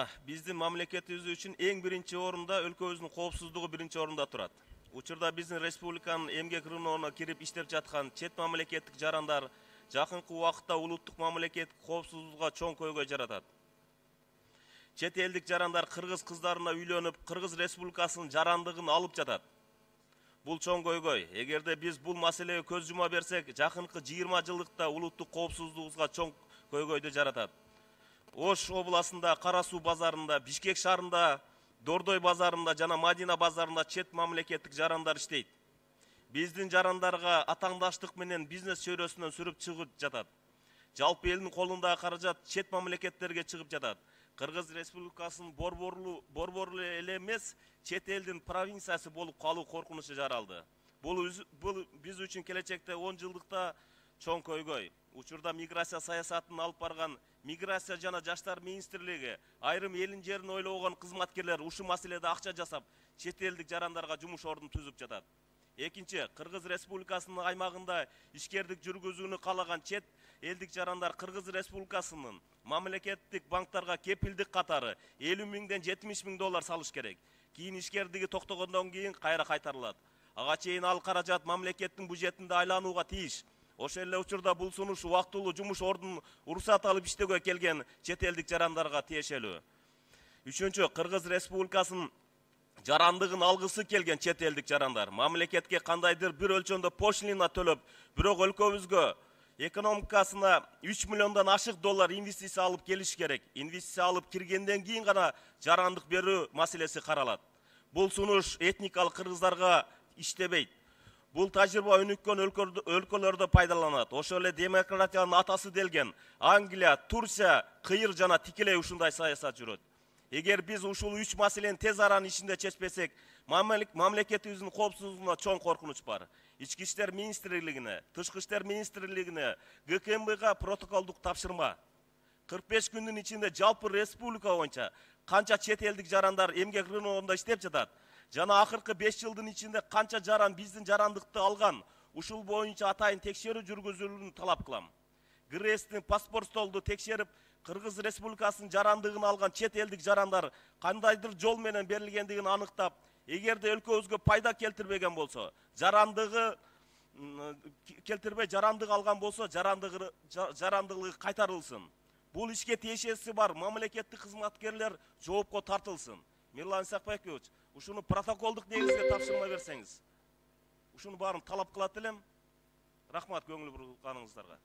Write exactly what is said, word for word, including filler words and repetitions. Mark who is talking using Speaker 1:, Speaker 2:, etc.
Speaker 1: Мына биздин мамлекетибиз үчүн эң биринчи орунда өлкөбүздүн коопсуздугу биринчи орунда турат. Учурда биздин республиканын эмгек рыногуна кирип иштеп жаткан чет мамлекеттик жарандар жакынкы убакытта улуттук мамлекеттик коопсуздукка чоң көйгөй жаратат. Чет элдик жарандар кыргыз кыздарына үйлөнүп, Кыргыз Республикасынын жарандыгын алып жатат. Бул чоң көйгөй. Эгерде биз бул маселеге көз жума берсек, жакынкы жыйырма жылдыкта улуттук коопсуздугубузга чоң көйгөйдү жаратат. Ош областында, Кара Суу базарында, Бишкек шаарында, Дордой базарында жана Мадина базарында чет мамлекеттик жарандар иштейт. Биздин жарандарга атаңдаштык менен бизнес чөйрөсүнөн сүрүп чыгып жатат. Жалпы элдин колундагы каражат чет мамлекеттерге чыгып жатат. Кыргыз Республикасынын борборлуу борборлуу эле эмес, чет элдин провинциясы болуп калуу коркунучу жаралды. Бул бул биз үчүн келечекте он жылдыкта чоң көйгөй. Учурда миграция саясатын алып барган Миграция жана жаштар министрлиги айрым элин жерин ойлогон кызматкерлер ушул маселеде акча жасап, чет элдик жарандарга жумуш ордун түзүп жатат. Экинчи, Кыргыз Республикасынын аймагында ишкердик жүргүзүүнү каалаган чет элдик жарандар Кыргыз Республикасынын мамлекеттик банктарга кепилдик катары элүү миңден жетимиш миң доллар салыш керек. Кийин ишкердиги токтогондон кийин кайра кайтарылат. Ага чейин ал каражат мамлекеттин бюджетинде айланууга тийиш. Ошол эле учурда бул сунуш убактылуу жумуш ордун уруксат алып иштөөгө келген чет элдик жарандарга тиешелүү. Үчүнчү, Кыргыз Республикасынын жарандыгын алгысы келген чет элдик жарандар мамлекетке кандайдыр бир өлчөмдө пошлина төлөп, бирок өлкөбүзгө экономикасына үч миллиондон ашык доллар инвестиция алып келиш керек. Инвестиция алып киргенден кийин гана жарандык берүү маселеси каралат. Бул сунуш этникалык кыргыздарга иштебейт. Бул тажрыйба өнүккөн өлкөлөрдө пайдаланат. Ошол эле демократиянын атасы делген Англия, Турция, Кыйыр жана тикелей ушундай саясат жүрөт. Эгер биз ушул үч маселени тез аранын ичинде чечпесек, мамлекетибиздин коопсуздугуна чоң коркунуч бар. Ички иштер министрлигине, Тышкы иштер министрлигине, Г К М Бга протоколдук тапшырма. кырк беш күндүн ичинде жалпы республика боюнча канча чет элдик жарандар эмгек рыногунда иштеп жатат? Жана акыркы беш жылдын ичинде канча жаран биздин жарандыкты алган? Ушул боюнча атайын текшерүү жүргүзүлүүнү талап кылам. ГРЭСтин паспорт столду текшерип, Кыргыз Республикасынын жарандыгын алган чет элдик жарандар кандайдыр жол менен берилгендигин аныктап, эгерде өлкөбүзгө пайда келтирбеген болсо, жарандыгы келтирбей жарандык алган болсо, жарандыгы жарандыгы кайтарылсын. Бул ишке тиешеси бар мамлекеттик кызматкерлер жоопко тартылсын. Мирлан Исакбекович, ушуну протоколдук негизде тапшырма берсеңиз. Ушуну баарын талап кылат элем. Рахмат көңүл бурганыңыздарга.